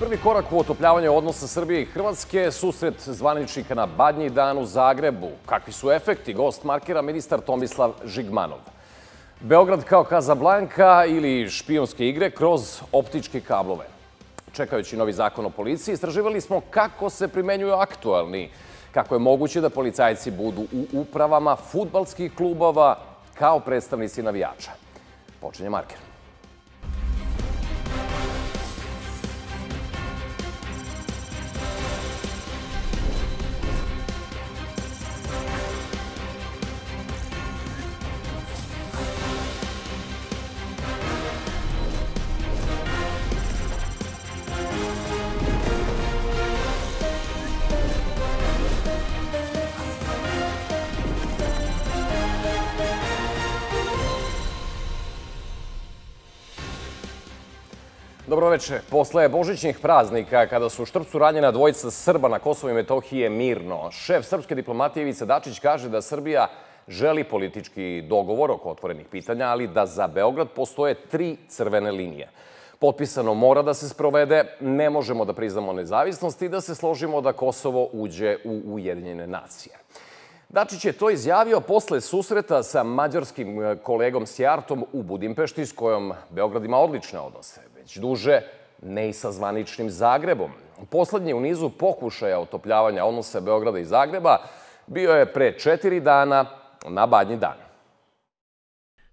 Prvi korak u otopljavanju odnosa Srbije i Hrvatske, susret zvaničnika na Badnji dan u Zagrebu. Kakvi su efekti? Gost markira ministar Tomislav Žigmanov. Beograd kao Kazablanka ili špijunske igre kroz optičke kablove. Čekajući novi zakon o policiji, istraživali smo kako se primenjuju aktualni, kako je moguće da policajci budu u upravama fudbalskih klubova kao predstavnici navijača. Počinje marker. Dobroveče. Posle božićnih praznika, kada su u Štrpcu ranjena dvojica Srba na Kosovu i Metohiji je mirno, šef srpske diplomatije Ivica Dačić kaže da Srbija želi politički dogovor oko otvorenih pitanja, ali da za Beograd postoje 3 crvene linije. Potpisano mora da se sprovede, ne možemo da priznamo nezavisnost i da se složimo da Kosovo uđe u Ujedinjene nacije. Dačić je to izjavio posle susreta sa mađarskim kolegom Sjartom u Budimpešti, s kojom Beograd ima odlične odnose. Već duže, ne i sa zvaničnim Zagrebom. Poslednji u nizu pokušaja otopljavanja odnosa Beograda i Zagreba bio je pre 4 dana na Badnji dan.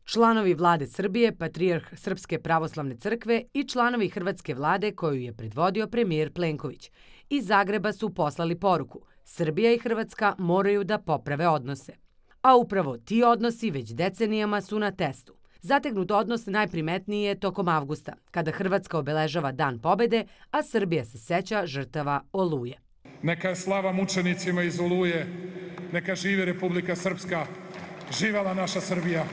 Članovi vlade Srbije, patrijarh Srpske pravoslavne crkve i članovi hrvatske vlade koju je predvodio premijer Plenković iz Zagreba su poslali poruku: Srbija i Hrvatska moraju da poprave odnose. A upravo ti odnosi već decenijama su na testu. Zategnut odnos najprimetniji je tokom avgusta, kada Hrvatska obeležava Dan pobede, a Srbija se seća žrtava Oluje. Neka je slava mučenicima iz Oluje, neka živi Republika Srpska, živela naša Srbija.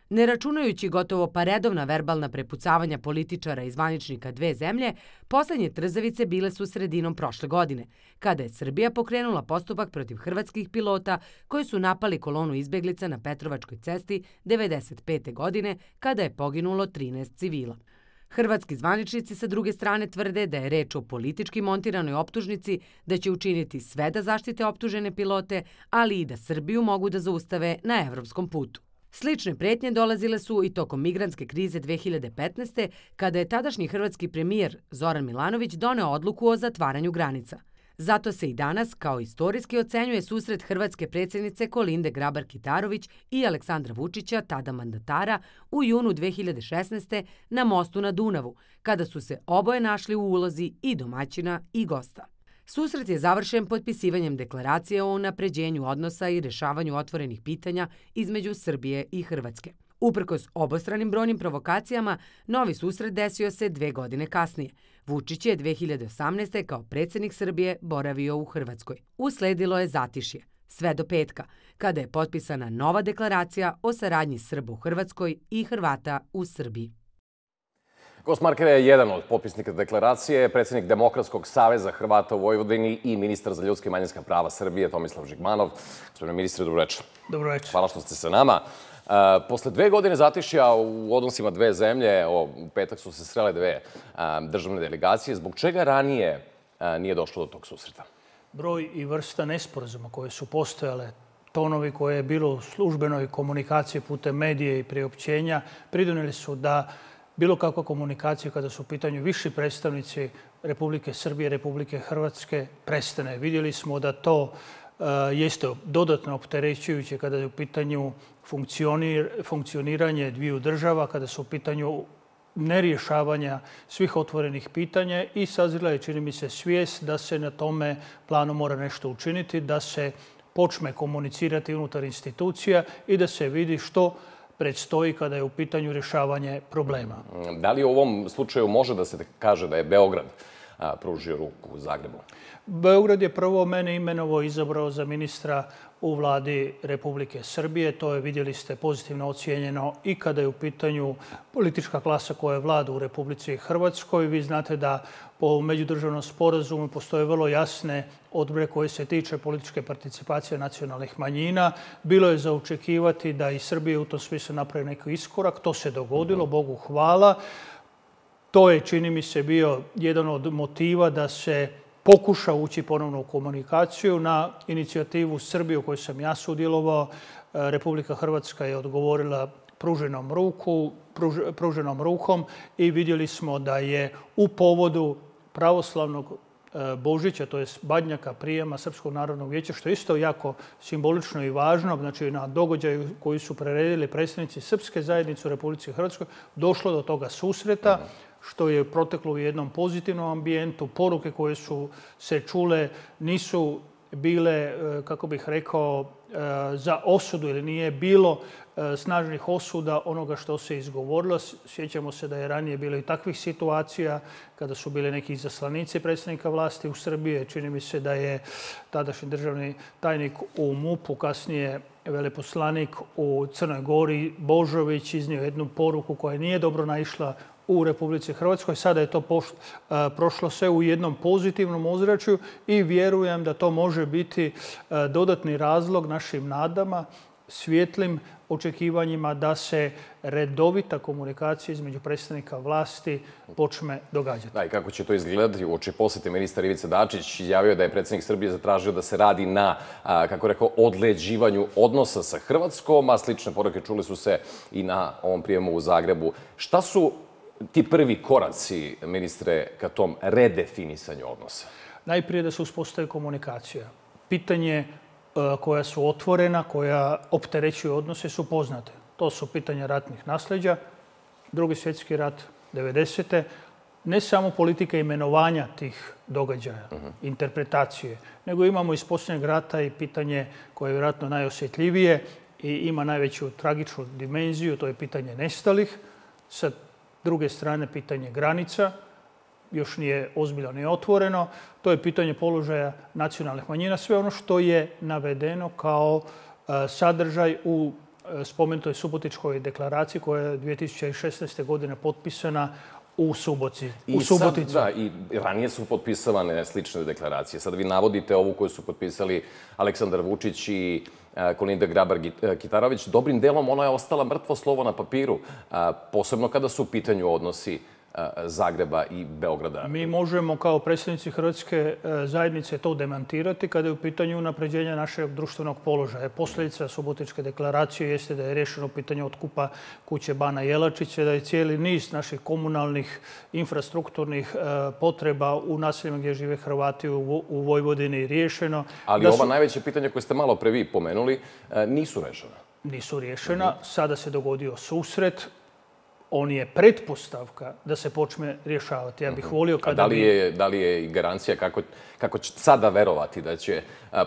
Ne računajući gotovo pa redovna verbalna prepucavanja političara i zvaničnika dve zemlje, poslednje trzavice bile su sredinom prošle godine, kada je Srbija pokrenula postupak protiv hrvatskih pilota koji su napali kolonu izbeglica na Petrovačkoj cesti 1995. godine, kada je poginulo 13 civila. Hrvatski zvaničnici sa druge strane tvrde da je reč o politički montiranoj optužnici, da će učiniti sve da zaštite optužene pilote, ali i da Srbiju mogu da zaustave na evropskom putu. Slične pretnje dolazile su i tokom migrantske krize 2015. kada je tadašnji hrvatski premijer Zoran Milanović doneo odluku o zatvaranju granica. Zato se i danas kao istorijski ocenjuje susret hrvatske predsjednice Kolinde Grabar-Kitarović i Aleksandra Vučića, tada mandatara, u junu 2016. na mostu na Dunavu, kada su se oboje našli u ulozi i domaćina i gosta. Susret je završen potpisivanjem deklaracije o unapređenju odnosa i rešavanju otvorenih pitanja između Srbije i Hrvatske. Uprkos obostranim brojnim provokacijama, novi susret desio se 2 godine kasnije. Vučić je 2018. kao predsjednik Srbije boravio u Hrvatskoj. Usledilo je zatišje, sve do petka, kada je potpisana nova deklaracija o saradnji Srba u Hrvatskoj i Hrvata u Srbiji. Gost markera je jedan od potpisnika deklaracije, predsjednik Demokratskog saveza Hrvata u Vojvodini i ministar za ljudska i manjinska prava Srbije, Tomislav Žigmanov. Gospodine ministre, dobroveče. Dobroveče. Hvala što ste sa nama. Posle 2 godine zatišja u odnosima dve zemlje, u petak su se srele 2 državne delegacije, zbog čega ranije nije došlo do tog susreta? Broj i vrsta nesporazuma koje su postojale, tonovi koje je bilo u službenoj komunikaciji putem medije i priopćenja, pridonijeli su da bilo kakva komunikacija kada su u pitanju viši predstavnici Republike Srbije i Republike Hrvatske prestane. Vidjeli smo da to jeste dodatno opterećujuće kada je u pitanju funkcioniranje dviju država, kada su u pitanju nerješavanja svih otvorenih pitanja i sazrela je, čini mi se, svijest da se na tome planu mora nešto učiniti, da se počne komunicirati unutar institucija i da se vidi što predstoji kada je u pitanju rješavanje problema. Da li u ovom slučaju može da se kaže da je Beograd pružio ruku u Zagrebu? Beograd je prvo mene imenovao i izabrao za ministra u vladi Republike Srbije. To je, vidjeli ste, pozitivno ocijenjeno i kada je u pitanju politička klasa koja vlada u Republici Hrvatskoj. Vi znate da po međudržavnom sporazumu postoje vrlo jasne odredbe koje se tiče političke participacije nacionalnih manjina. Bilo je za očekivati da i Srbija u tom smislu napravi neki iskorak. To se dogodilo, Bogu hvala. To je, čini mi se, bio jedan od motiva da se pokuša ući ponovno u komunikaciju. Na inicijativu Srbije u kojoj sam ja sudjelovao, Republika Hrvatska je odgovorila pruženom rukom i vidjeli smo da je u povodu pravoslavnog Božića, to je Badnjaka, prijema Srpskog narodnog vijeća, što je isto jako simbolično i važno, znači na događaju koji su priredili predstavnici srpske zajednice u Republici Hrvatskoj, došlo do toga susreta, što je proteklo u jednom pozitivnom ambijentu. Poruke koje su se čule nisu bile, kako bih rekao, za osudu ili nije bilo snažnih osuda onoga što se izgovorilo. Sjećamo se da je ranije bilo i takvih situacija kada su bili neki izaslanici predsjednika vlasti u Srbiji. Čini mi se da je tadašnji državni tajnik u MUP-u, kasnije veleposlanik u Crnoj Gori, Božović, iznio jednu poruku koja nije dobro naišla u Republici Hrvatskoj. Sada je to prošlo sve u jednom pozitivnom ozračju i vjerujem da to može biti dodatni razlog našim nadama, svjetlim očekivanjima da se redovita komunikacija između predstavnika vlasti počne događati. Da, i kako će to izgledati? Uoči posjete ministar Ivica Dačić izjavio da je predsjednik Srbije zatražio da se radi na, kako rekao, odleđivanju odnosa sa Hrvatskom, a slične poruke čuli su se i na ovom prijemu u Zagrebu. Šta su ti prvi koraci, ministre, ka tom redefinisanju odnosa? Najprije da se uspostavi komunikacija. Pitanje koja su otvorena, koja opterećuju odnose su poznate. To su pitanja ratnih nasljeđa, Drugi svjetski rat, 90. Ne samo politika imenovanja tih događaja, interpretacije, nego imamo iz posljednjeg rata i pitanje koje je vjerojatno najosjetljivije i ima najveću tragičnu dimenziju, to je pitanje nestalih. Sa druge strane, pitanje granica, još nije ozbiljno ni otvoreno. To je pitanje položaja nacionalnih manjina. Sve ono što je navedeno kao sadržaj u spomenutoj Subotičkoj deklaraciji koja je 2016. godine potpisana u Subotici. Da, i ranije su potpisavane slične deklaracije. Sad vi navodite ovu koju su potpisali Aleksandar Vučić i Kolinda Grabar-Kitarović. Dobrim delom ona je ostala mrtvo slovo na papiru, posebno kada su u pitanju odnosi Zagreba i Beograda. Mi možemo kao predstavnici Hrvatske zajednice to demantirati kada je u pitanju unapređenja našeg društvenog položaja. Posljedica Subotičke deklaracije jeste da je rješeno pitanje otkupa kuće Bana Jelačića, da je cijeli niz naših komunalnih infrastrukturnih potreba u naseljima gdje žive Hrvati u Vojvodini riješeno. Ali ova najveća pitanja koje ste malo pre vi pomenuli nisu rešena. Nisu rješena. Sada se dogodio susret. On je pretpostavka da se počne rješavati. Ja bih volio kada Da li je i garancija kako će sada verovati da će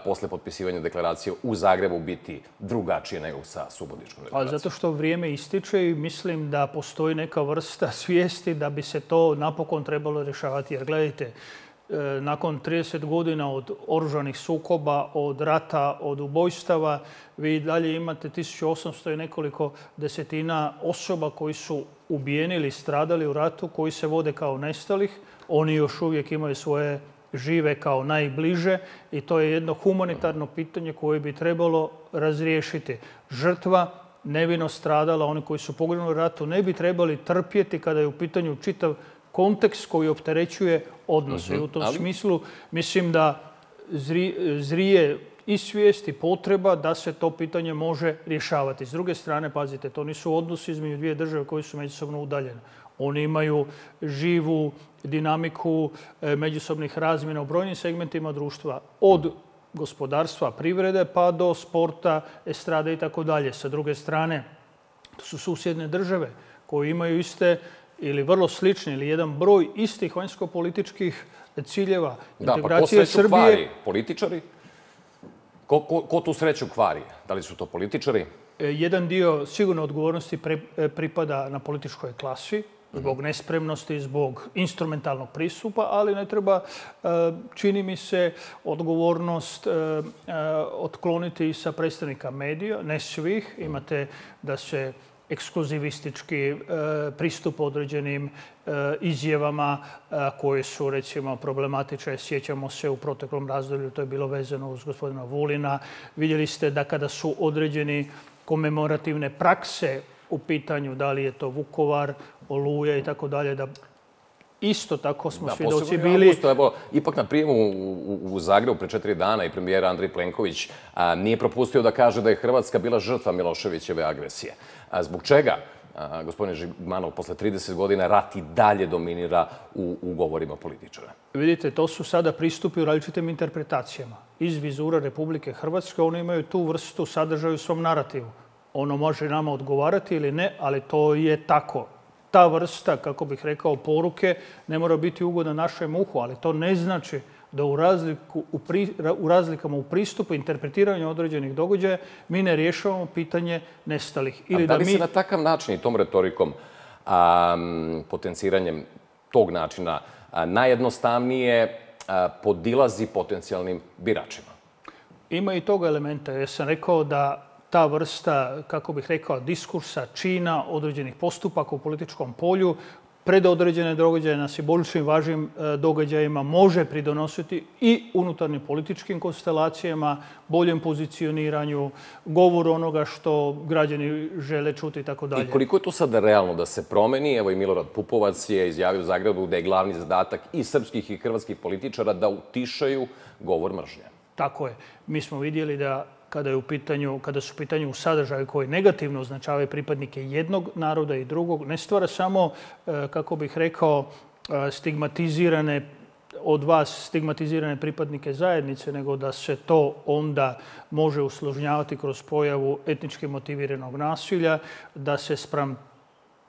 posle potpisivanja deklaracije u Zagrebu biti drugačije nego sa Subotičkom deklaracijom? Zato što vrijeme ističe i mislim da postoji neka vrsta svijesti da bi se to napokon trebalo rješavati. Jer gledajte, nakon 30 godina od oružanih sukoba, od rata, od ubojstava, vi dalje imate 1800 i nekoliko desetina osoba koji su ubijeni ili stradali u ratu, koji se vode kao nestalih. Oni još uvijek imaju svoje žive kao najbliže i to je jedno humanitarno pitanje koje bi trebalo razriješiti. Žrtva nevino stradala, oni koji su poginuli u ratu, ne bi trebali trpjeti kada je u pitanju čitav kontekst koji opterećuje odnose. I u tom smislu mislim da zrije i svijest i potreba da se to pitanje može rješavati. S druge strane, pazite, to nisu odnosi između dvije države koje su međusobno udaljene. Oni imaju živu dinamiku međusobnih razmjena u brojnim segmentima društva, od gospodarstva, privrede pa do sporta, estrade i tako dalje. Sa druge strane, to su susjedne države koje imaju iste ili vrlo slični ili jedan broj istih vanjsko-političkih ciljeva. Da, pa ko sreću kvari? Političari? Ko tu sreću kvari? Da li su to političari? Jedan dio sigurno odgovornosti pripada na političkoj klasi. zbog nespremnosti, zbog instrumentalnog pristupa, ali ne treba, čini mi se, odgovornost otkloniti sa predstavnika medija, ne svih. Imate da se ekskluzivistički pristup određenim izjavama koje su, recimo, problematične. Sjećamo se u proteklom razdoblju, to je bilo vezano uz gospodina Vulina. Vidjeli ste da kada su određeni komemorativne prakse u pitanju, da li je to Vukovar, Oluja i tako dalje, da isto tako smo svjedoci bili. Ipak na prijemu u Zagrebu pre 4 dana i premijer Andrej Plenković nije propustio da kaže da je Hrvatska bila žrtva Miloševićeve agresije. Zbog čega, gospodine Žigmanov, posle 30 godina rat i dalje dominira u govorima političara? Vidite, to su sada pristupi u različitim interpretacijama. Iz vizura Republike Hrvatske oni imaju tu vrstu sadržaja u svom narativu. Ono može nama odgovarati ili ne, ali to je tako. Ta vrsta, kako bih rekao, poruke ne mora biti ugodna našem uhu, ali to ne znači da u razlikama u pristupu, interpretiranju određenih događaja mi ne rješavamo pitanje nestalih. Da li se na takav način i tom retorikom, potenciranjem tog načina, najjednostavnije podilazi potencijalnim biračima? Ima i toga elementa. Ja sam rekao da ta vrsta, kako bih rekao, diskursa, čina, određenih postupaka u političkom polju, pred određene događaje na simboličnim važnim događajima može pridonositi i unutarnjim političkim konstelacijama, boljem pozicioniranju, govoru onoga što građani žele čuti i tako dalje. I koliko je to sada realno da se promeni? Evo i Milorad Pupovac je izjavio u Zagrebu da je glavni zadatak i srpskih i hrvatskih političara da utišaju govor mržnje. Tako je. Mi smo vidjeli da kada su u pitanju sadržaje koji negativno označavaju pripadnike jednog naroda i drugog, ne stvara samo, kako bih rekao, stigmatizirane pripadnike zajednice, nego da se to onda može usložnjavati kroz pojavu etnički motiviranog nasilja, da se spram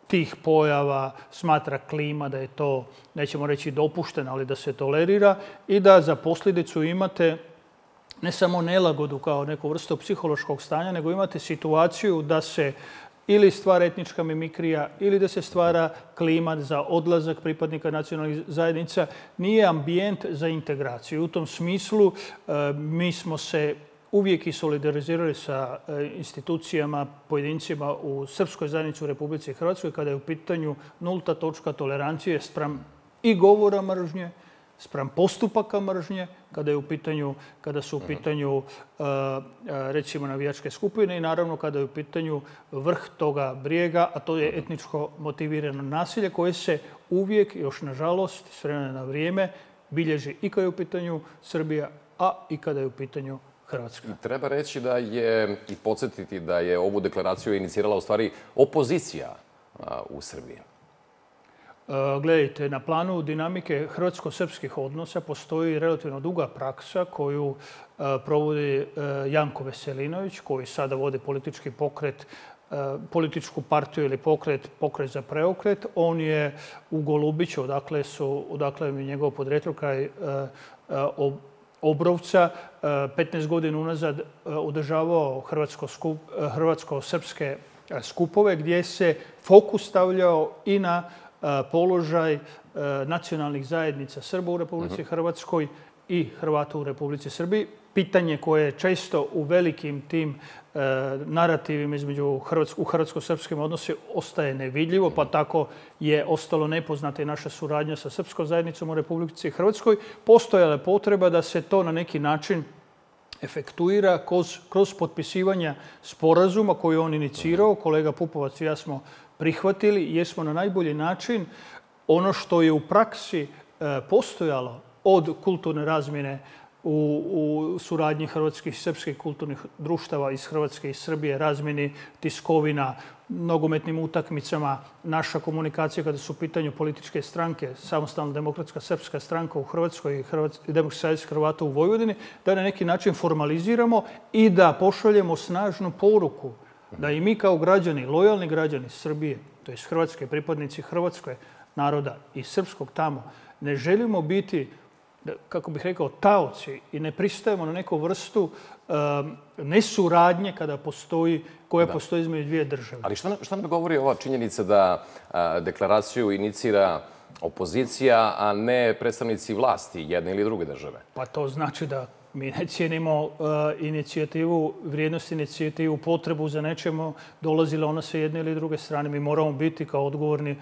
tih pojava smatra klima, da je to, nećemo reći dopušteno, ali da se tolerira i da za posljedicu imate ne samo nelagodu kao neku vrstu psihološkog stanja, nego imate situaciju da se ili stvara etnička mimikrija ili da se stvara klima za odlazak pripadnika nacionalnih zajednica. Nije ambijent za integraciju. U tom smislu mi smo se uvijek i solidarizirali sa institucijama, pojedincima u srpskoj zajednici u Republici Hrvatskoj kada je u pitanju nulta točka tolerancije spram i govora mržnje, spram postupaka mržnje, kada su u pitanju recimo navijačke skupine i naravno kada je u pitanju vrh toga brijega, a to je etničko motivirano nasilje koje se uvijek, još nažalost, s vremena na vrijeme, bilježi i kada je u pitanju Srbija, a i kada je u pitanju Hrvatska. Treba reći da je i podsjetiti da je ovu deklaraciju inicirala u stvari opozicija u Srbiji. Gledajte, na planu dinamike hrvatsko-srpskih odnosa postoji relativno duga praksa koju provodi Janko Veselinović, koji sada vodi politički pokret, političku partiju ili pokret za preokret. On je u Golubiću, odakle mi njegovo podrijetlo kraj Obrovca, 15 godina unazad održavao hrvatsko-srpske skupove gdje se fokus stavljao i na položaj nacionalnih zajednica Srba u Republici Hrvatskoj i Hrvata u Republici Srbiji. Pitanje koje često u velikim tim narativima u hrvatsko-srpskim odnosima ostaje nevidljivo, pa tako je ostalo nepoznata i naša suradnja sa srpskom zajednicom u Republici Hrvatskoj. Postojala je potreba da se to na neki način efektuira kroz potpisivanje sporazuma koji je on inicirao. Kolega Pupovac i ja smo prihvatili jer smo na najbolji način ono što je u praksi postojalo od kulturne razmjene u suradnji hrvatskih i srpskih kulturnih društava iz Hrvatske i Srbije, razmjeni tiskovina, nogometnim utakmicama, naša komunikacija kada su u pitanju političke stranke, Samostalna demokratska srpska stranka u Hrvatskoj i Demokratski savez Hrvata u Vojvodini, da na neki način formaliziramo i da pošaljemo snažnu poruku da i mi kao građani, lojalni građani Srbije, to je Hrvatske, pripadnici hrvatskog naroda i srpskog tamo, ne želimo biti kako bih rekao, taoci i ne pristajemo na neku vrstu nesuradnje koja postoji između dvije države. Ali šta nam govori ova činjenica da deklaraciju inicira opozicija, a ne predstavnici vlasti jedne ili druge države? Pa to znači da mi ne cijenimo inicijativu, vrijednost inicijativu, potrebu za nečemu, dolazila ona sa jedne ili druge strane. Mi moramo biti kao odgovorni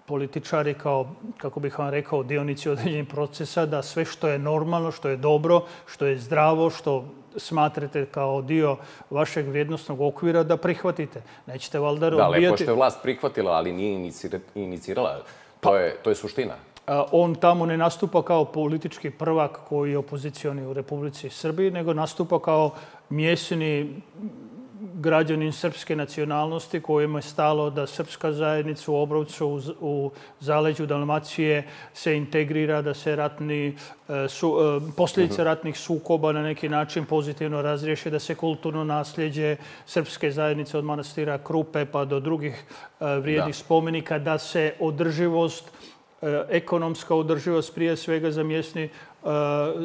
političari, kao, kako bih vam rekao, dionici određenih procesa, da sve što je normalno, što je dobro, što je zdravo, što smatrate kao dio vašeg vrijednostnog okvira, da prihvatite. Nećete valjda odbijati... Da, lepo što je vlast prihvatila, ali nije inicirala. To je suština. On tamo ne nastupa kao politički prvak koji je opozicioni u Republici Srbiji, nego nastupa kao mjesni građanin srpske nacionalnosti kojima je stalo da srpska zajednica u Obrovcu, u zaleđu Dalmacije se integrira, da se posljedice ratnih sukoba na neki način pozitivno razriješe, da se kulturno nasljeđe srpske zajednice od manastira Krupe pa do drugih vrijednih spomenika, da se održivost, ekonomska održivost prije svega za mjesni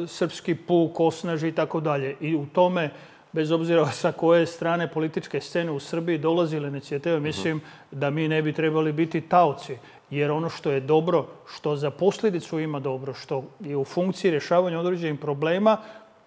srpski puk osnaži i tako dalje. I u tome, bez obzira sa koje strane političke scene u Srbiji dolazile inicijative, mislim da mi ne bi trebali biti taoci. Jer ono što je dobro, što za posljedicu ima dobro, što je u funkciji rješavanja određenih problema,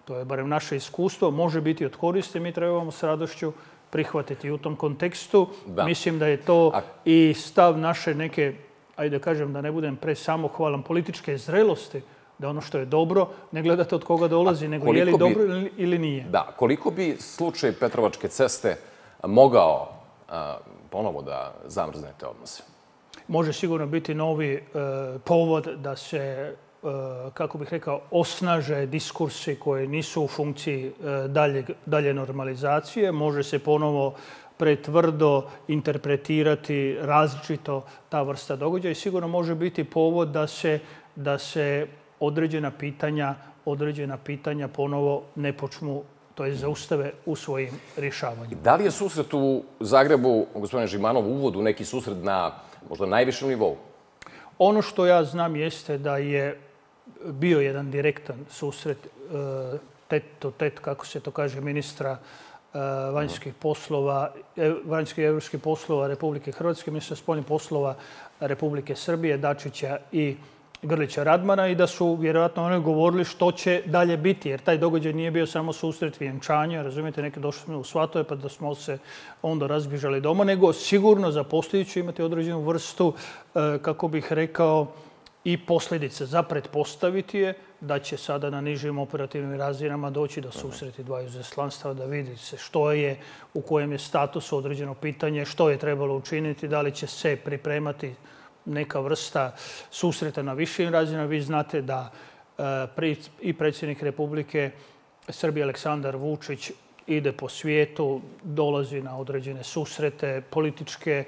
to je barem naše iskustvo, može biti od koristi, mi trebamo s radošću prihvatiti. U tom kontekstu mislim da je to i stav naše neke, ajde da kažem da ne budem presamohvalan, političke zrelosti, da ono što je dobro ne gledate od koga dolazi, nego je li dobro ili nije. Da, koliko bi slučaj Petrovačke ceste mogao ponovo da zamrzne te odnose? Može sigurno biti novi povod da se, kako bih rekao, osnaže diskursi koji nisu u funkciji dalje normalizacije. Može se ponovo pretvrdo interpretirati različito ta vrsta događaja i sigurno može biti povod da se određena pitanja ponovo ne počnu, to je zaustave u svojim rješavanjima. Da li je susret u Zagrebu, gospodine Žimanov, uvod u neki susret na možda najvišem nivou? Ono što ja znam jeste da je bio jedan direktan susret tet, kako se to kaže, ministra vanjskih i evropskih poslova Republike Hrvatske, ministra spoljnih poslova Republike Srbije, Dačića i Grlića Radmana i da su vjerojatno oni govorili što će dalje biti, jer taj događaj nije bio samo susret vjenčanja, razumijete, neki došli smo u Svatove pa da smo se onda razbježali doma, nego sigurno za posljedicu imati određenu vrstu, kako bih rekao, i posljedice. Za pretpostaviti je da će sada na nižim operativnim razinama doći do susreti dvaju izaslanstava, da vidi se što je, u kojem je statusu određeno pitanje, što je trebalo učiniti, da li će se pripremati neka vrsta susreta na višim razinama. Vi znate da i predsjednik Republike Srbije Aleksandar Vučić ide po svijetu, dolazi na određene susrete političke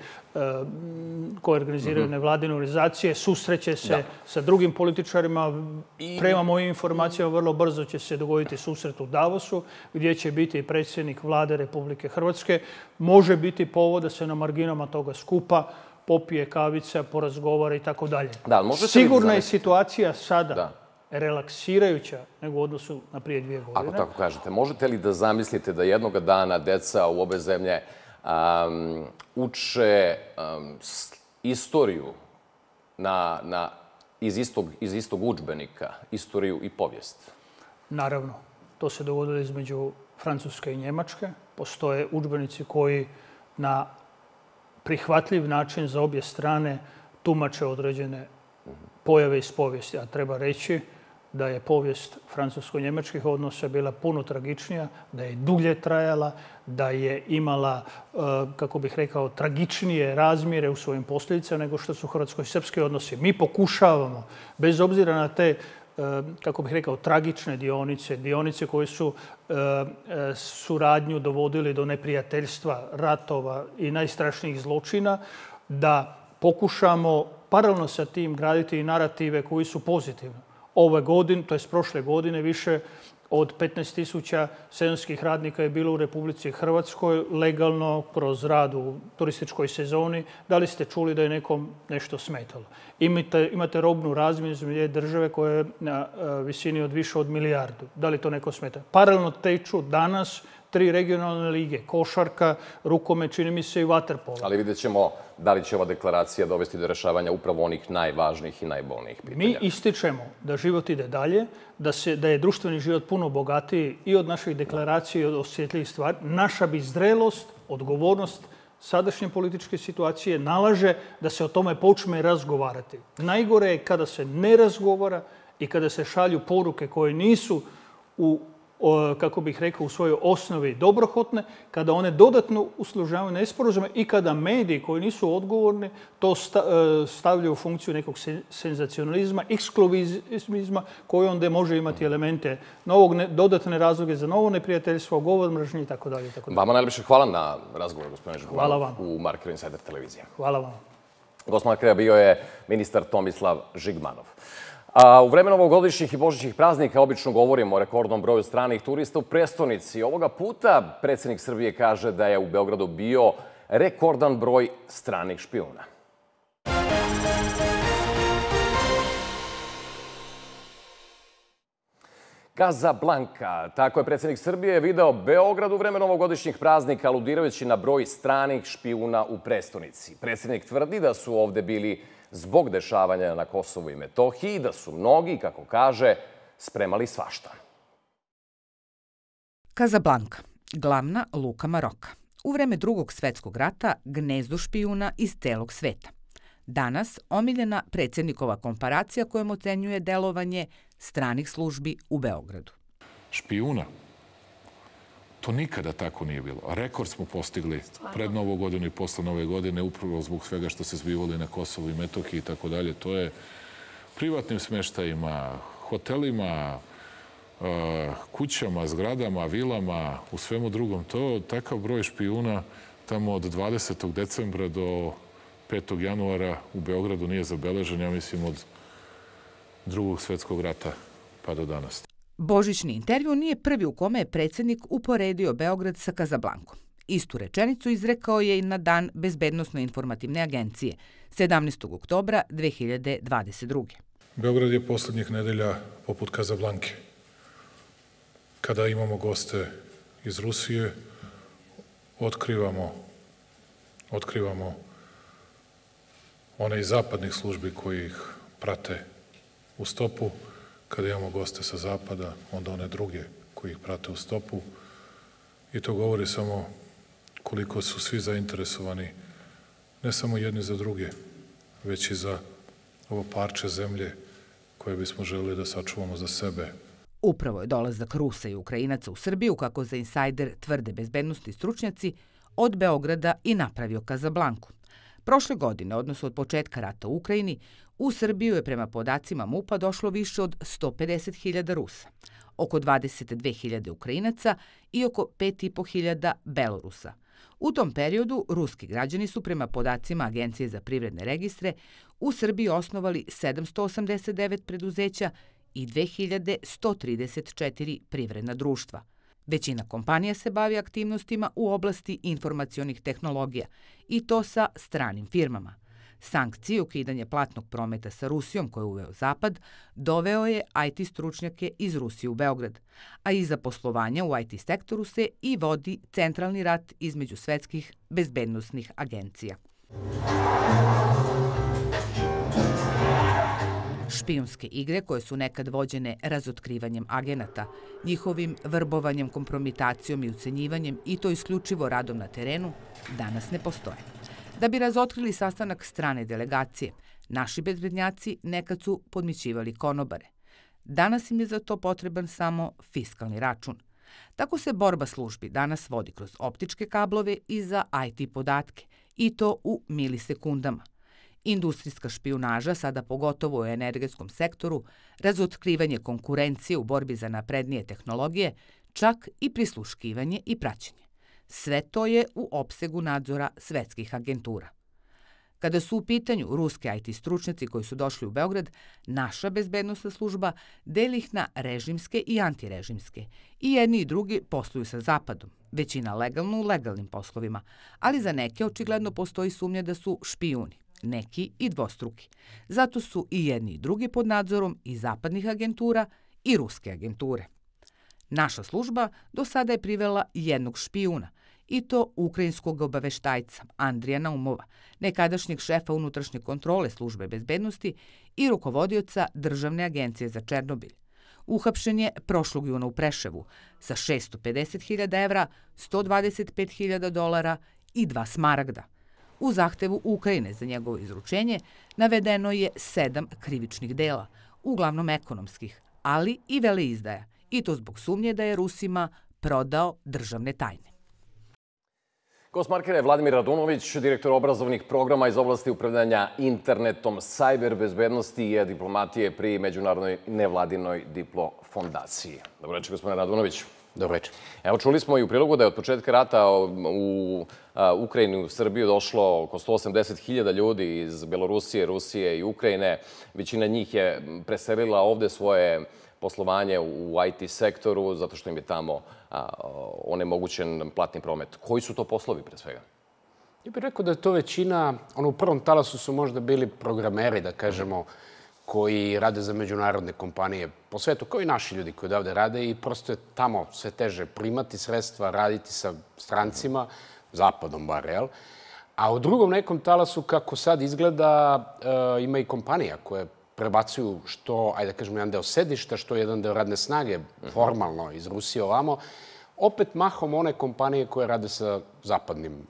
koje organiziraju nevladine organizacije, susreće se sa drugim političarima. Prema mojim informacijama vrlo brzo će se dogoditi susret u Davosu gdje će biti i predsjednik Vlade Republike Hrvatske. Može biti povod da se na marginama toga skupa popije kavica, porazgovara i tako dalje. Sigurna je situacija sada relaksirajuća nego u odnosu na prije 2 godine. Ako tako kažete, možete li da zamislite da jednoga dana deca u obe zemlje uče istoriju iz istog udžbenika, istoriju i povijest? Naravno. To se dogodilo između Francuske i Njemačke. Postoje udžbenici koji na prihvatljiv način za obje strane tumače određene pojave iz povijesti. A treba reći da je povijest francusko-njemačkih odnosa bila puno tragičnija, da je dulje trajala, da je imala, kako bih rekao, tragičnije razmjere u svojim posljedicama nego što su hrvatsko-srpski odnosi. Mi pokušavamo, bez obzira na te, kako bih rekao, tragične dionice koje su suradnju dovodili do neprijateljstva, ratova i najstrašnijih zločina, da pokušamo paralelno sa tim graditi i narative koji su pozitivni. Ove godine, to je prošle godine, više od 15.000 sezonskih radnika je bilo u Republici Hrvatskoj legalno kroz rad u turističkoj sezoni. Da li ste čuli da je nekom nešto smetalo? Imate robnu razmjenu između države koja je na visini od više od milijardu. Da li to neko smeta? Paralelno teču danas 3 regionalne lige, košarka, rukomet, čini mi se i vaterpolo. Ali vidjet ćemo da li će ova deklaracija dovesti do rešavanja upravo onih najvažnijih i najbolnijih pitanja. Mi ističemo da život ide dalje, da je društveni život puno bogatiji i od naših deklaracija i od osjetljivih stvari. Naša bi zrelost, odgovornost sadašnje političke situacije nalaže da se o tome počne razgovarati. Najgore je kada se ne razgovara i kada se šalju poruke koje nisu kako bih rekao, u svojoj osnovi dobrohotne, kada one dodatno uslužavaju nesporazume i kada mediji koji nisu odgovorni to stavljaju u funkciju nekog senzacionalizma, ekskluzivizma koji onda može imati elemente dodatne razloge za novo neprijateljstvo, govor mržnje itd. Vama najljepše hvala na razgovor, gospodine Žigmanov, u Markeru Insider televizije. Hvala vam. Gost Markera bio je ministar Tomislav Žigmanov. A u vreme novogodišnjih i božićnih praznika obično govorimo o rekordnom broju stranih turista u prestonici. Ovoga puta predsjednik Srbije kaže da je u Beogradu bio rekordan broj stranih špijuna. Casablanca. Tako je predsjednik Srbije video Beograd u vreme novogodišnjih praznika, aludirajući na broj stranih špijuna u prestonici. Predsjednik tvrdi da su ovde bili zbog dešavanja na Kosovu i Metohiji, da su mnogi, kako kaže, spremali svašta. Casablanca, glavna luka Maroka. U vreme Drugog svetskog rata gnezdo špijuna iz celog sveta. Danas omiljena predsjednikova komparacija kojom ocenjuje delovanje stranih službi u Beogradu. Špijuna? To nikada tako nije bilo. Rekord smo postigli pred Novu godinu i posle Nove godine, upravo zbog svega što se zbivalo na Kosovu i Metohiji i tako dalje. To je privatnim smeštajima, hotelima, kućama, zgradama, vilama, u svemu drugom. Takav broj špijuna tamo od 20. decembra do 5. januara u Beogradu nije zabeležen, ja mislim, od Drugog svetskog rata pa do danas. Božićni intervju nije prvi u kome je predsjednik uporedio Beograd sa Casablancom. Istu rečenicu izrekao je i na dan Bezbednosno-informativne agencije, 17. oktobra 2022. Beograd je poslednjih nedelja poput Casablanke. Kada imamo goste iz Rusije, otkrivamo one iz zapadnih službi koji ih prate u stopu. Kada imamo goste sa zapada, onda one druge koji ih prate u stopu. I to govori samo koliko su svi zainteresovani, ne samo jedni za druge, već i za ovo parče zemlje koje bismo želeli da sačuvamo za sebe. Upravo je dolazak Rusa i Ukrajinaca u Srbiju, kako za Insajder tvrde bezbednosni stručnjaci, od Beograda i napravio Casablanku. Prošle godine, odnosno od početka rata u Ukrajini, u Srbiju je prema podacima MUP-a došlo više od 150.000 Rusa, oko 22.000 Ukrajinaca i oko 5.500 Belorusa. U tom periodu ruski građani su prema podacima Agencije za privredne registre u Srbiji osnovali 789 preduzeća i 2134 privredna društva. Većina kompanija se bavi aktivnostima u oblasti informacionih tehnologija i to sa stranim firmama. Sankcije i ukidanje platnog prometa sa Rusijom koje je uveo Zapad doveo je IT stručnjake iz Rusije u Beograd, a iza poslovanja u IT sektoru se i vodi centralni rat između svetskih bezbednosnih agencija. Špijunske igre koje su nekad vođene razotkrivanjem agenata, njihovim vrbovanjem, kompromitacijom i ucenjivanjem i to isključivo radom na terenu, danas ne postoje. Da bi razotkrili sastanak strane delegacije, naši bezbednjaci nekad su podmićivali konobare. Danas im je za to potreban samo fiskalni račun. Tako se borba službi danas vodi kroz optičke kablove i za IT podatke, i to u milisekundama. Industrijska špijunaža, sada pogotovo u energetskom sektoru, razotkrivanje konkurencije u borbi za naprednije tehnologije, čak i prisluškivanje i praćenje. Sve to je u opsegu nadzora svetskih agentura. Kada su u pitanju ruski IT stručnjaci koji su došli u Beograd, naša bezbednosna služba deli ih na režimske i antirežimske. I jedni i drugi posluju sa Zapadom, većina legalno u legalnim poslovima, ali za neke očigledno postoji sumnja da su špijuni, neki i dvostruki. Zato su i jedni i drugi pod nadzorom i zapadnih agentura i ruske agenture. Naša služba do sada je privela jednog špijuna, i to ukrajinskog obaveštajca Andrija Naumova, nekadašnjeg šefa unutrašnje kontrole službe bezbednosti i rukovodioca Državne agencije za Černobilj. Uhapšen je prošlog juna u Preševu sa 650.000 evra, $125.000 i 2 smaragda. U zahtevu Ukrajine za njegovo izručenje navedeno je 7 krivičnih dela, uglavnom ekonomskih, ali i veleizdaja, i to zbog sumnje da je Rusima prodao državne tajne. Gost Markera je Vladimir Radunović, direktor obrazovnih programa iz oblasti upravljanja internetom, sajber bezbednosti i diplomatije pri Međunarodnoj nevladinoj diplofondaciji. Dobro večer, gospodine Radunoviću. Dobro večer. Evo, čuli smo i u prilogu da je od početka rata u Ukrajini, u Srbiju došlo oko 180.000 ljudi iz Belorusije, Rusije i Ukrajine. Većina njih je preselila ovde svoje poslovanje u IT sektoru, zato što im je tamo onemogućen platni promet. Koji su to poslovi, pre svega? Ja bih rekao da je to većina, u prvom talasu su možda bili programeri, da kažemo, koji rade za međunarodne kompanije po svetu, kao i naši ljudi koji odavde rade i prosto je tamo sve teže primati sredstva, raditi sa strancima, zapadom bar, jel? A u drugom nekom talasu, kako sad izgleda, ima i kompanija koje prebacuju što, ajde da kažemo, jedan deo sedišta, što jedan deo radne snage, formalno iz Rusije ovamo, opet mahom one kompanije koje rade sa zapadnim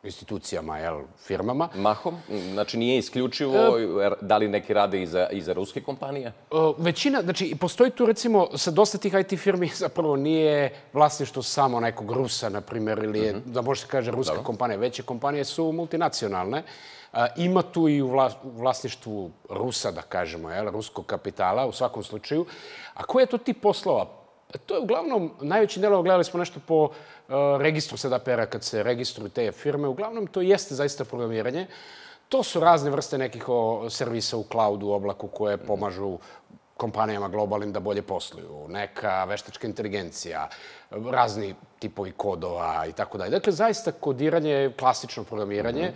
institucijama, firmama. Mahom? Znači nije isključivo da li neki rade i za ruske kompanije? Većina, znači postoji tu recimo sa dosta tih IT firmi zapravo nije vlasništvo samo nekog Rusa, na primjer, ili je, da može se kaže, ruska kompanija. Veće kompanije su multinacionalne. Ima tu i u vlasništvu Rusa, da kažemo, ruskog kapitala u svakom slučaju. A koji je to tip poslova? To je uglavnom, najveći delo, gledali smo nešto po registru SDPR-a kad se registruju te firme, uglavnom to jeste zaista programiranje. To su razne vrste nekih servisa u cloudu, u oblaku koje pomažu kompanijama globalnim da bolje posluju. Neka veštačka inteligencija, razni tipovi kodova i tako dalje. Dakle, zaista kodiranje je klasično programiranje,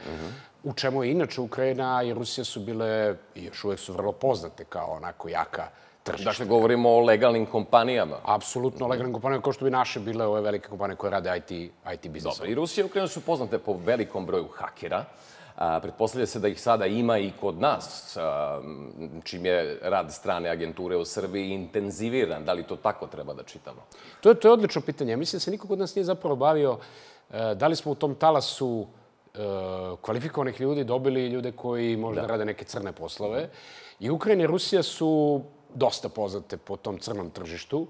u čemu je inače Ukrajina i Rusija su bile i još uvek su vrlo poznate kao onako jaka tržišta. Dakle, govorimo o legalnim kompanijama. Apsolutno legalnim kompanijama, kao što bi naše bile ove velike kompanije koje rade IT biznis. Dobro, i Rusija i Ukrajina su poznate po velikom broju hakera. Pretpostavlja se da ih sada ima i kod nas, čim je rad strane agenture u Srbiji intenziviran. Da li to tako treba da čitamo? To je odlično pitanje. Mislim da se niko kod nas nije zapravo bavio da li smo u tom talasu kvalifikovanih ljudi dobili ljude koji možda rade neke crne poslove. I Ukrajina i Rusija su dosta poznate po tom crnom tržištu.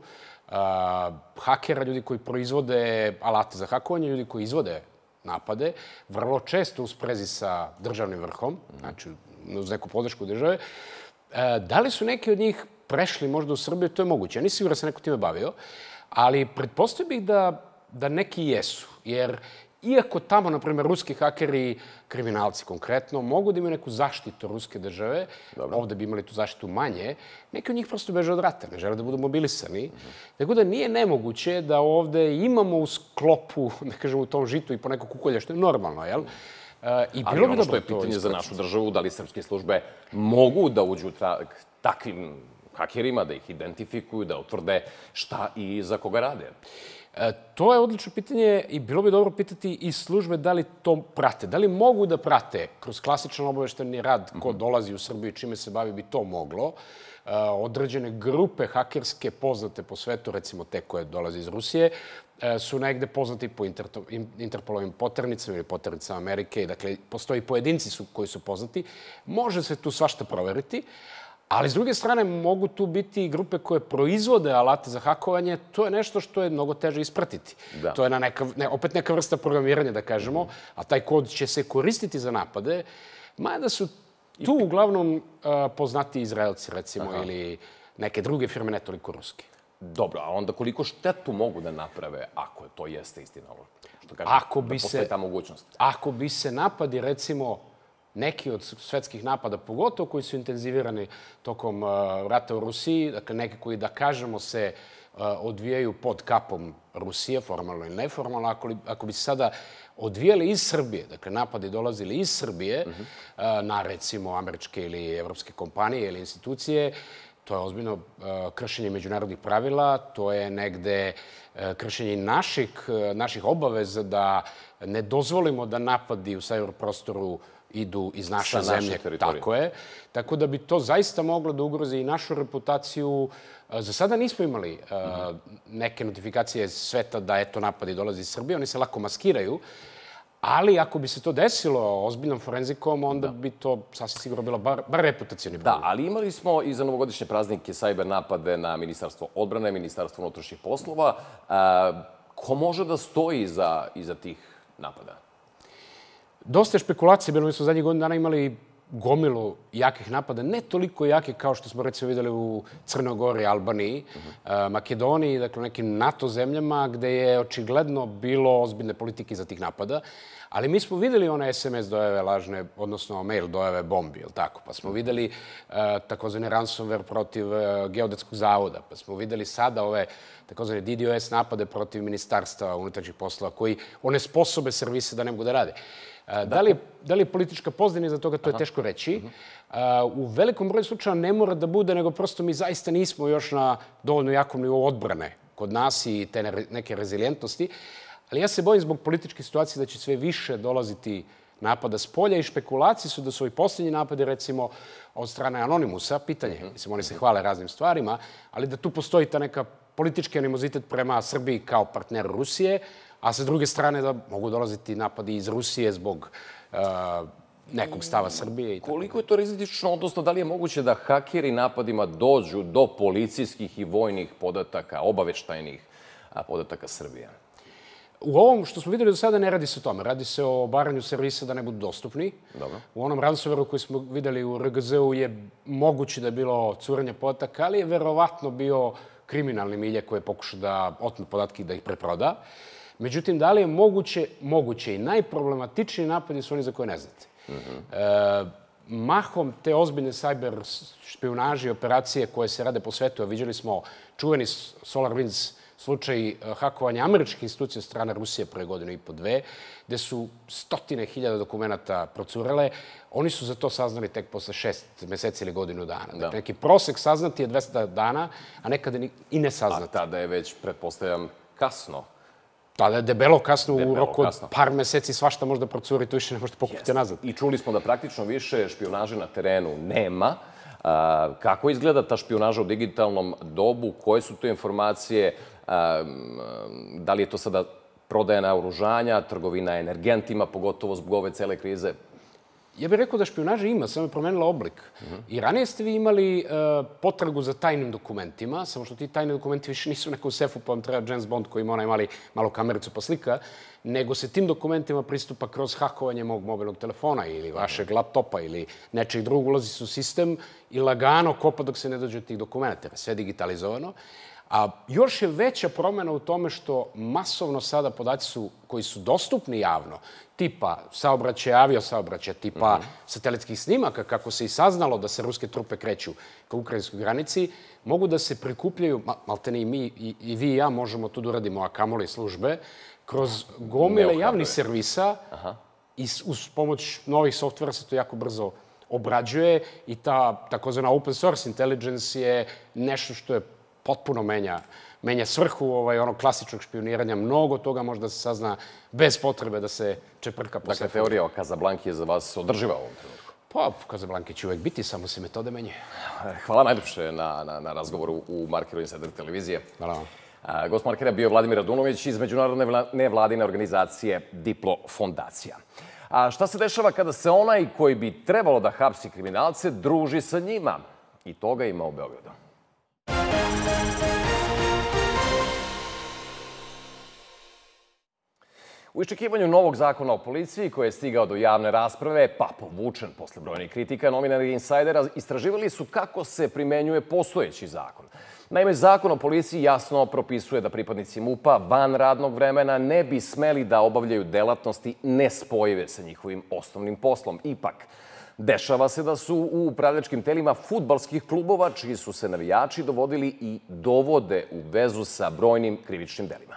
Hakera, ljudi koji proizvode alate za hakovanje, ljudi koji izvode napade, vrlo često u sprezi sa državnim vrhom, znači uz neku podršku države. Da li su neki od njih prešli možda u Srbiju, to je moguće. Ja nisam siguran da se neko time bavio, ali pretpostavio bih da neki jesu, jer iako tamo, na primjer, ruski hakeri, kriminalci konkretno, mogu da imaju neku zaštitu ruske države, ovde bi imali tu zaštitu manje, neki od njih prosto beže od rata, ne žele da budu mobilisani. Tako da nije nemoguće da ovde imamo u sklopu, da kažemo, u tom žitu i po neko kukolje, što je normalno, jel? Ali ono što je pitanje za našu državu, da li srpske službe mogu da uđu takvim hakerima, da ih identifikuju, da utvrde šta i za koga rade? To je odlično pitanje i bilo bi dobro pitati i službe da li to prate. Da li mogu da prate kroz klasičan obavešteni rad ko dolazi u Srbiju i čime se bavi bi to moglo. Određene grupe hakerske poznate po svetu, recimo te koje dolaze iz Rusije, su negde poznati po Interpolovim poternicama ili poternicama Amerike. Dakle, postoji pojedinci koji su poznati. Može se tu svašta proveriti. Ali, s druge strane, mogu tu biti i grupe koje proizvode alate za hakovanje. To je nešto što je mnogo teže ispratiti. To je opet neka vrsta programiranja, da kažemo, a taj kod će se koristiti za napade. Mada su tu uglavnom poznati Izraelci, recimo, ili neke druge firme, ne toliko ruske. Dobro, a onda koliko štetu mogu da naprave ako to jeste istina ovo? Što kažem, da postoji ta mogućnost? Ako bi se napadi, recimo, neki od svetskih napada, pogotovo koji su intenzivirani tokom rata u Rusiji, dakle neki koji, da kažemo, se odvijaju pod kapom Rusije, formalno ili neformalno, ako bi se sada odvijali iz Srbije, dakle napadi dolazili iz Srbije na, recimo, američke ili evropske kompanije ili institucije, to je ozbiljno kršenje međunarodnih pravila, to je negde kršenje naših obaveza da ne dozvolimo da napadi u cyberprostoru idu iz naše zemlje. Tako je. Tako da bi to zaista moglo da ugrozi i našu reputaciju. Za sada nismo imali neke notifikacije sveta da eto napadi dolazi iz Srbije. Oni se lako maskiraju. Ali ako bi se to desilo ozbiljnom forenzikom, onda bi to sasvim sigurno bilo bar reputacijni problem. Da, ali imali smo i za novogodišnje praznike sajber napade na Ministarstvo odbrane, Ministarstvo unutrašnjih poslova. Ko može da stoji iza tih napada? Dosta je špekulacije bilo. Mi smo zadnjih godina dana imali gomilu jakih napada, ne toliko jake kao što smo recimo videli u Crnoj Gori, Albaniji, Makedoniji, dakle u nekim NATO zemljama gde je očigledno bilo ozbiljne politike iza tih napada. Ali mi smo videli one SMS dojave lažne, odnosno mail dojave bombi, jel tako? Pa smo videli takozvani ransomware protiv Geodetskog zavoda, pa smo videli sada ove takozvane DDoS napade protiv Ministarstva unutrašnjih poslova koji onesposobe servise da ne mogu da rade. Da li je politička pozadina iza toga, to je teško reći. U velikom broju slučaja ne mora da bude, nego prosto mi zaista nismo još na dovoljno jakom nivou odbrane kod nas i te neke rezilijentnosti. Ali ja se bojim zbog političke situacije da će sve više dolaziti napada s polja i špekulacije su da su ovi posljednji napadi, recimo, od strane Anonimusa, pitanje, mislim, oni se hvale raznim stvarima, ali da tu postoji ta neka politički animozitet prema Srbiji kao partneru Rusije, a sa druge strane da mogu dolaziti napadi iz Rusije zbog nekog stava Srbije. Koliko je to rizično, odnosno da li je moguće da hakeri napadima dođu do policijskih i vojnih podataka, obaveštajnih podataka Srbije? U ovom što smo videli do sada ne radi se o tome. Radi se o obaranju servisa da ne budu dostupni. U onom ransomwareu koji smo videli u RGZ-u je moguće da je bilo curenje podataka, ali je verovatno bio kriminalni milje koji je pokušao da otme podatke i da ih preproda. Međutim, da li je moguće? Moguće. I najproblematičniji napadi su oni za koje ne znate. Mahom te ozbiljne cyber špionaže i operacije koje se rade po svetu, a viđali smo čuveni SolarWinds slučaj hakovanja američkih institucija od strane Rusije pre godinu i po dve, gde su stotine hiljada dokumenta procurele. Oni su za to saznali tek posle 6 meseci ili godinu dana. Dakle, neki prosek saznati je 200 dana, a nekada i ne saznati. A tada je već, pretpostavljam, kasno. Tada je debelo kasno, u roku od par meseci svašta možda procuri, to više ne možete pokupiti nazad. I čuli smo da praktično više špionaže na terenu nema. Kako izgleda ta špionaža u digitalnom dobu? Koje su to informacije? Da li je to sada prodaja naoružanja, trgovina energentima, pogotovo zbog ove cele krize? Ja bih rekao da špionaža ima, samo je promenila oblik. I ranije ste vi imali potragu za tajnim dokumentima, samo što ti tajni dokumenti više nisu u nekom sefu, pa vam treba James Bond koji ima onaj malu kamericu pa slika, nego se tim dokumentima pristupa kroz hakovanje mog mobilnog telefona ili vašeg laptopa ili nečeg drugog, ulazi se u sistem i lagano kopa dok se ne dođe od tih dokumenta. Sve digitalizovano. A još je veća promjena u tome što masovno sada podaci koji su dostupni javno, tipa saobraćaja, aviosaobraćaja, tipa satelitskih snimaka, kako se i saznalo da se ruske trupe kreću ka ukrajinskoj granici, mogu da se prikupljaju, maltene i mi, i vi i ja možemo tu da uradimo, a kamoli službe, kroz gomile javnih servisa i uz pomoć novih softvera se to jako brzo obrađuje i ta takozvana open source intelligence je nešto što je potpuno menja svrhu onog klasičnog špioniranja. Mnogo toga može da se sazna bez potrebe da se čeprka po sefu. Dakle, teorija o Kazablanki je za vas održiva u ovom trenutku? Pa, Kazablanke će uvek biti, samo se metode menje. Hvala najljepše na razgovoru u Markeru Insider televizije. Hvala vam. Gost Markera bio Vladimir Radunović iz međunarodne nevladine organizacije Diplo fondacija. A šta se dešava kada se onaj koji bi trebalo da hapsi kriminalce druži sa njima? I toga ima u Beogradu. U iščekivanju novog zakona o policiji koji je stigao do javne rasprave, pa povučen posle brojnih kritika, novinari Insajdera istraživali su kako se primenjuje postojeći zakon. Naime, zakon o policiji jasno propisuje da pripadnici MUP-a van radnog vremena ne bi smeli da obavljaju delatnosti nespojive sa njihovim osnovnim poslom. Ipak, dešava se da su u upravljačkim telima fudbalskih klubova, čiji su se navijači dovodili i dovode u vezu sa brojnim krivičnim delima.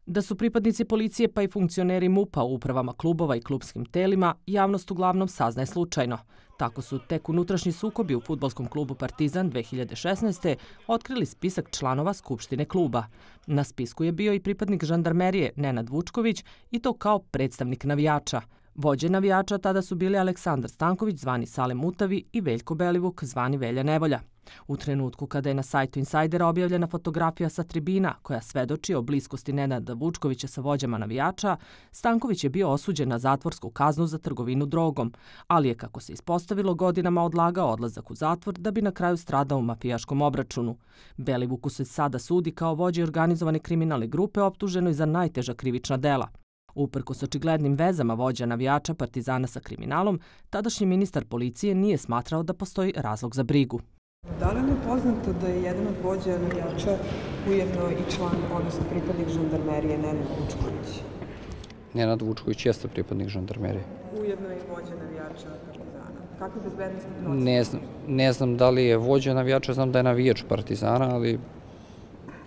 Da su pripadnici policije pa i funkcioneri MUP-a u upravama klubova i klubskim telima, javnost uglavnom saznaje slučajno. Tako su tek unutrašnji sukobi u fudbalskom klubu Partizan 2016. otkrili spisak članova Skupštine kluba. Na spisku je bio i pripadnik žandarmerije Nenad Vučković i to kao predstavnik navijača. Vođe navijača tada su bili Aleksandar Stanković, zvani Sale Mutavi, i Veljko Belivuk, zvani Velja Nevolja. U trenutku kada je na sajtu Insajdera objavljena fotografija sa tribina koja svedoči o bliskosti Nenada Vučkovića sa vođama navijača, Stanković je bio osuđen na zatvorsku kaznu za trgovinu drogom, ali je, kako se ispostavilo, godinama odlagao odlazak u zatvor da bi na kraju stradao u mafijaškom obračunu. Belivuku se sada sudi kao vođi organizovane kriminalne grupe optuženoj za najteža krivična dela. Uprkos očiglednim vezama vođa navijača Partizana sa kriminalom, tadašnji ministar policije nije smatrao da postoji razlog za brigu. Da li je poznato da je jedan od vođa navijača ujedno i član, odnosno pripadnik žandarmerije, Nenad Vučković? Nenad Vučković jeste pripadnik žandarmerije. Ujedno i vođa navijača Partizana. Kakve bezbednostne procene? Ne znam da li je vođa navijača, znam da je navijač Partizana, ali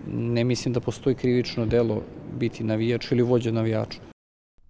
ne mislim da postoji krivično delo biti navijač ili vođa navijača.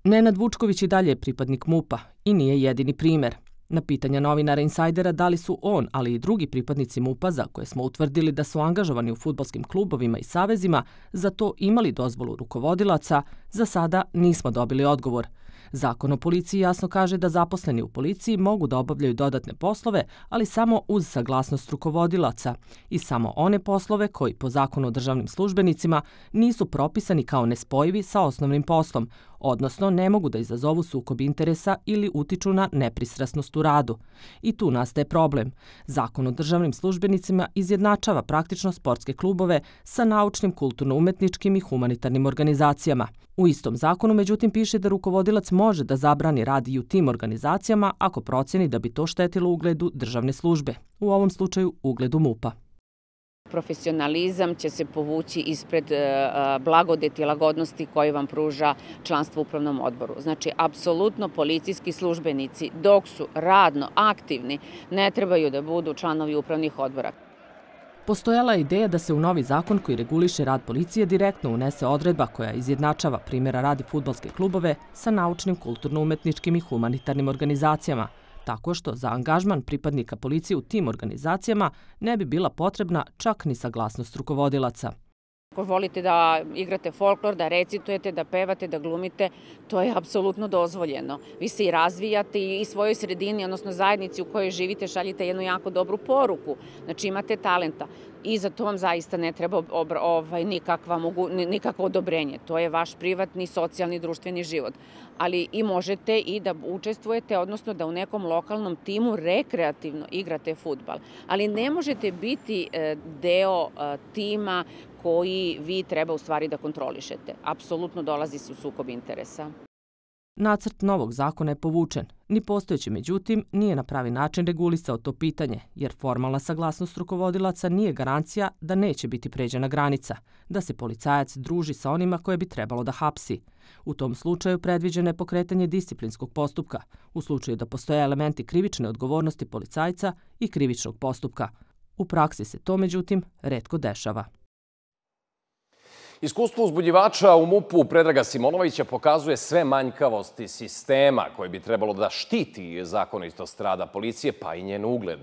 Nenad Vučković i dalje je pripadnik MUP-a i nije jedini primer. Na pitanja novinara Insajdera da li su on, ali i drugi pripadnici MUP-a, za koje smo utvrdili da su angažovani u fudbalskim klubovima i savezima, za to imali dozvolu rukovodilaca, za sada nismo dobili odgovor. Zakon o policiji jasno kaže da zaposleni u policiji mogu da obavljaju dodatne poslove, ali samo uz saglasnost rukovodilaca i samo one poslove koji po zakonu o državnim službenicima nisu propisani kao nespojivi sa osnovnim poslom, odnosno ne mogu da izazovu sukob interesa ili utiču na nepristrasnost u radu. I tu nastaje problem. Zakon o državnim službenicima izjednačava praktično sportske klubove sa naučnim, kulturno-umetničkim i humanitarnim organizacijama. U istom zakonu, međutim, piše da rukovodilac može da zabrani rad i u tim organizacijama ako proceni da bi to štetilo ugledu državne službe, u ovom slučaju ugledu MUP-a. Profesionalizam će se povući ispred blagodeti i lagodnosti koji vam pruža članstvo u upravnom odboru. Znači, apsolutno policijski službenici, dok su radno aktivni, ne trebaju da budu članovi upravnih odbora. Postojala je ideja da se u novi zakon koji reguliše rad policije direktno unese odredba koja izjednačava, primjera radi, fudbalske klubove sa naučnim, kulturno-umetničkim i humanitarnim organizacijama, tako što za angažman pripadnika policije u tim organizacijama ne bi bila potrebna čak ni saglasnost rukovodilaca. Ako volite da igrate folklor, da recitujete, da pevate, da glumite, to je apsolutno dozvoljeno. Vi se i razvijate i svojoj sredini, odnosno zajednici u kojoj živite, šaljite jednu jako dobru poruku. Znači, imate talenta i za to vam zaista ne treba nikakvo odobrenje. To je vaš privatni, socijalni, društveni život. Ali i možete i da učestvujete, odnosno da u nekom lokalnom timu rekreativno igrate fudbal. Ali ne možete biti deo tima koji vi treba u stvari da kontrolišete. Apsolutno dolazi se u sukob interesa. Nacrt novog zakona je povučen. Ni postojeći, međutim, nije na pravi način regulisao to pitanje, jer formalna saglasnost rukovodilaca nije garancija da neće biti pređena granica, da se policajac druži sa onima koje bi trebalo da hapsi. U tom slučaju predviđeno je pokretanje disciplinskog postupka, u slučaju da postoje elementi krivične odgovornosti policajca i krivičnog postupka. U praksi se to, međutim, retko dešava. Iskustvo uzbudjivača u MUP-u Predraga Simonovića pokazuje sve manjkavosti sistema koji bi trebalo da štiti zakonitost rada policije, pa i njen ugled.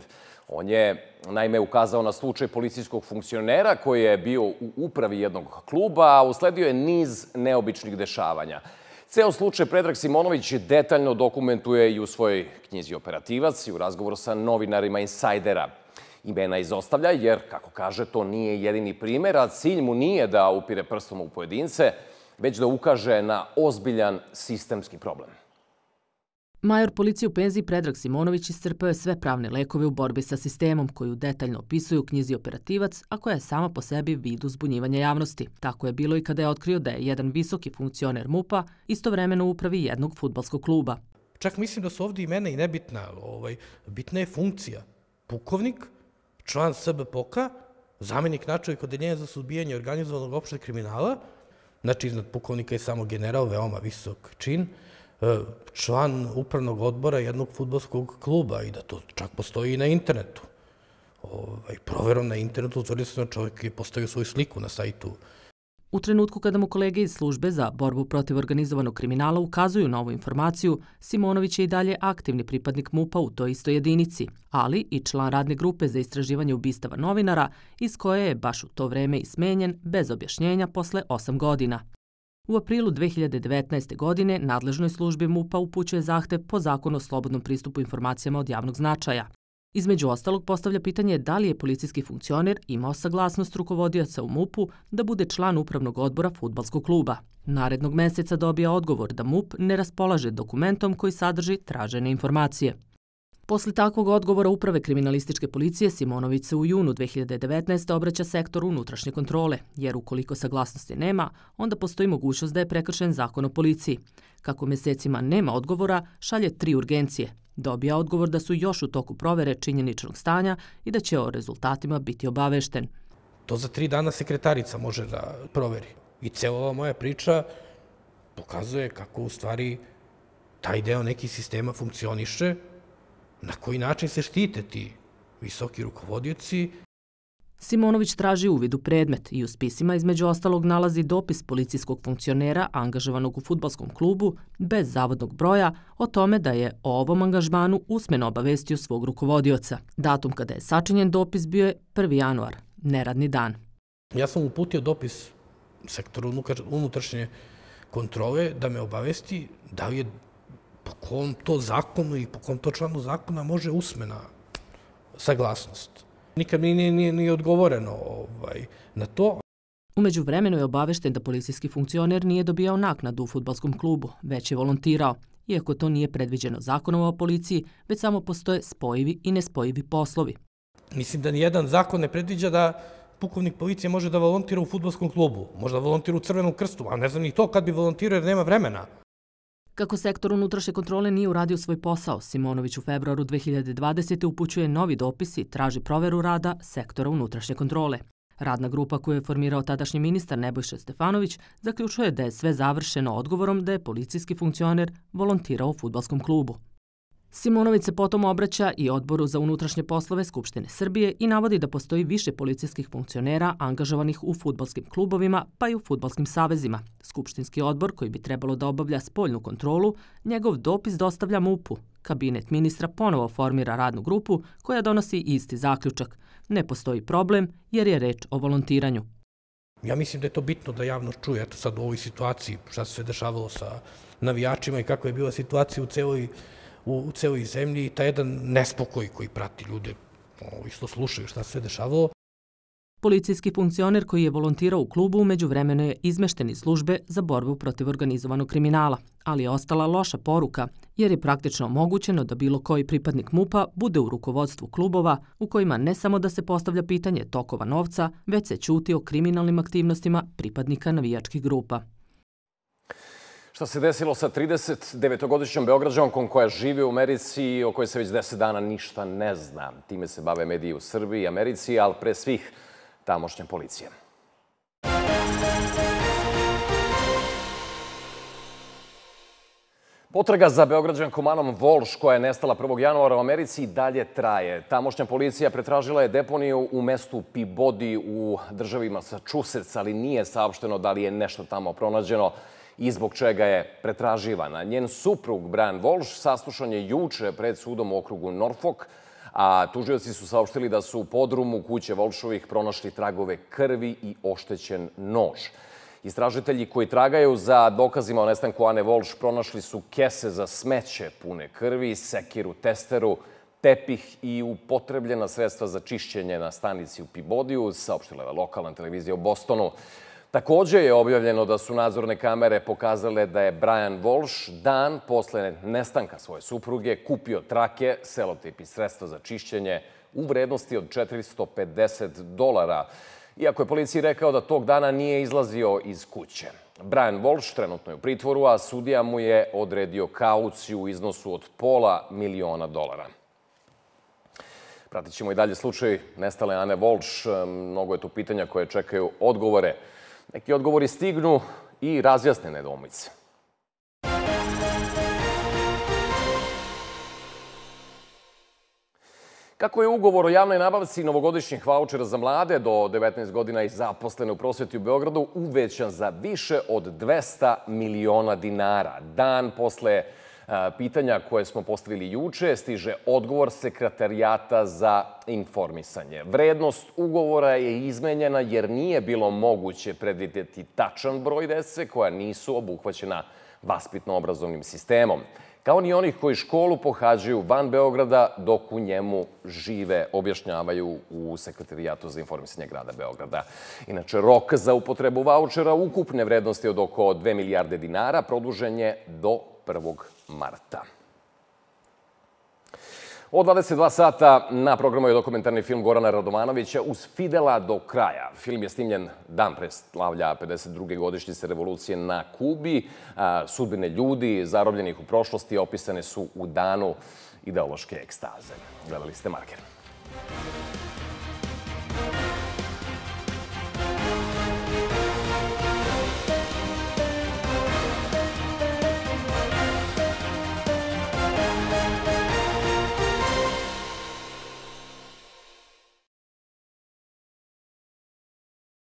On je, naime, ukazao na slučaj policijskog funkcionera koji je bio u upravi jednog kluba, a usledio je niz neobičnih dešavanja. Ceo slučaj Predrag Simonović detaljno dokumentuje i u svojoj knjizi Operativac i u razgovoru sa novinarima Insajdera. Imena izostavlja jer, kako kaže, to nije jedini primer, a cilj mu nije da upire prstom u pojedince, već da ukaže na ozbiljan sistemski problem. Major policije u penziji Predrag Simonović iscrpao je sve pravne lekove u borbi sa sistemom koju detaljno opisuje u knjizi Operativac, a koja je sama po sebi vid uzbunjivanja javnosti. Tako je bilo i kada je otkrio da je jedan visoki funkcioner MUP-a istovremeno u upravi jednog fudbalskog kluba. Čak mislim da su ovdje imena i nebitna. Bitna je funkcija. Pukovnik, član SBPOK-a zamenik načelnika odeljenja za suzbijanje organizovanog opšteg kriminala, znači iznad pukovnika je samo general, veoma visok čin, član upravnog odbora jednog fudbalskog kluba i da to čak postoji i na internetu. Proverom na internetu utvrdio se da čovjek je postavio svoju sliku na sajtu. U trenutku kada mu kolege iz službe za borbu protiv organizovanog kriminala ukazuju na ovu informaciju, Simonović je i dalje aktivni pripadnik MUP-a u toj istoj jedinici, ali i član radne grupe za istraživanje ubistava novinara, iz koje je baš u to vreme i smenjen bez objašnjenja posle 8 godina. U aprilu 2019. godine nadležnoj službi MUP-a upućuje zahtev po zakonu o slobodnom pristupu informacijama od javnog značaja. Između ostalog postavlja pitanje da li je policijski funkcioner imao saglasnost rukovodioca u MUP-u da bude član upravnog odbora fudbalskog kluba. Narednog meseca dobija odgovor da MUP ne raspolaže dokumentom koji sadrži tražene informacije. Posle takvog odgovora Uprave kriminalističke policije Simonović se u junu 2019. obraća sektoru unutrašnje kontrole, jer ukoliko saglasnosti nema, onda postoji mogućnost da je prekršen zakon o policiji. Kako mesecima nema odgovora, šalje 3 urgencije. Dobija odgovor da su još u toku provere činjeničnog stanja i da će o rezultatima biti obavešten. To za 3 dana sekretarica može da proveri. I cijela ova moja priča pokazuje kako u stvari taj deo nekih sistema funkcioniše, na koji način se štite ti visoki rukovodioci. Simonović traži uvid u predmet i u spisima između ostalog nalazi dopis policijskog funkcionera angažovanog u fudbalskom klubu bez zavodnog broja o tome da je o ovom angažmanu usmeno obavestio svog rukovodioca. Datum kada je sačinjen dopis bio je 1. januar, neradni dan. Ja sam uputio dopis sektoru unutrašnje kontrole da me obavesti da li je po kom to zakonu i po kom to članu zakona može usmena saglasnost. Nikad mi nije odgovoreno na to. Umeđu vremenu je obavešten da policijski funkcioner nije dobijao naknadu u fudbalskom klubu, već je volontirao, iako to nije predviđeno zakonom o policiji, već samo postoje spojivi i nespojivi poslovi. Mislim da nijedan zakon ne predviđa da pukovnik policije može da volontira u fudbalskom klubu, može da volontira u Crvenom krstu, a ne znam ni to kad bi volontirao jer nema vremena. Kako sektor unutrašnje kontrole nije uradio svoj posao, Simonović u februaru 2020. upućuje novi dopis i traži proveru rada sektora unutrašnje kontrole. Radna grupa koju je formirao tadašnji ministar Nebojša Stefanović zaključuje da je sve završeno odgovorom da je policijski funkcioner volontirao u fudbalskom klubu. Simonović se potom obraća i Odboru za unutrašnje poslove Skupštine Srbije i navodi da postoji više policijskih funkcionera angažovanih u fudbalskim klubovima pa i u fudbalskim savezima. Skupštinski odbor, koji bi trebalo da obavlja spoljnu kontrolu, njegov dopis dostavlja MUP-u. Kabinet ministra ponovo formira radnu grupu koja donosi isti zaključak. Ne postoji problem jer je reč o volontiranju. Ja mislim da je to bitno da javnost čuje. Eto sad u ovoj situaciji šta se dešavalo sa navijačima i kako je bila situacija u celoj zemlji i taj jedan nespokoj koji prati ljude što slušaju šta se dešavalo. Policijski funkcioner koji je volontirao u klubu umeđu vremenu je izmešten iz službe za borbu protiv organizovanog kriminala, ali je ostala loša poruka jer je praktično omogućeno da bilo koji pripadnik MUP-a bude u rukovodstvu klubova u kojima ne samo da se postavlja pitanje tokova novca, već se ćuti o kriminalnim aktivnostima pripadnika navijačkih grupa. Šta se desilo sa 39-godišnjom Beograđankom koja živi u Americi i o kojoj se već 10 dana ništa ne zna? Time se bave mediji u Srbiji i Americi, ali pre svih tamošnja policija. Potraga za Beograđankom Anom Volš, koja je nestala 1. januara u Americi, i dalje traje. Tamošnja policija pretražila je deponiju u mestu Peabody u državi Massachusetts, ali nije saopšteno da li je nešto tamo pronađeno i zbog čega je pretraživana. Njen suprug, Brian Walsh, saslušan je juče pred sudom u okrugu Norfolk, a tužioci su saopštili da su u podrumu kuće Walshovih pronašli tragove krvi i oštećen nož. Istražitelji koji tragaju za dokazima o nestanku Ane Volš pronašli su kese za smeće pune krvi, sekiru, testeru, tepih i upotrebljena sredstva za čišćenje na stanici u Peabodyu, saopštila je lokalna televizija u Bostonu. Također je objavljeno da su nadzorne kamere pokazale da je Brian Walsh dan posle nestanka svoje supruge kupio trake, selotip i sredstva za čišćenje u vrednosti od $450. Iako je policiji rekao da tog dana nije izlazio iz kuće. Brian Walsh trenutno je u pritvoru, a sudija mu je odredio kauciju u iznosu od $500.000. Pratit ćemo i dalje slučaj nestale Ane Volč. Mnogo je tu pitanja koje čekaju odgovore. Neki odgovori stignu i razjasne nedoumice. Kako je ugovor o javnoj nabavci novogodišnjih vaučera za mlade do 19 godina i zaposlene u prosveti u Beogradu uvećan za više od 200 miliona dinara? Dan posle pitanja koje smo postavili juče stiže odgovor Sekretarijata za informisanje. Vrednost ugovora je izmenjena jer nije bilo moguće predvideti tačan broj dece koja nisu obuhvaćena vaspitno-obrazovnim sistemom, kao ni onih koji školu pohađaju van Beograda dok u njemu žive, objašnjavaju u Sekretarijatu za informisanje grada Beograda. Inače, rok za upotrebu vaučera ukupne vrednosti od oko 2 milijarde dinara produžen je do 1. marta. Od 22 sata na programu je dokumentarni film Gorana Radovanovića Uz Fidela do kraja. Film je snimljen dan pre slavlja 52. godišnjice revolucije na Kubi. Sudbine ljudi zarobljenih u prošlosti opisane su u danu ideološke ekstaze. Gledali ste Marker.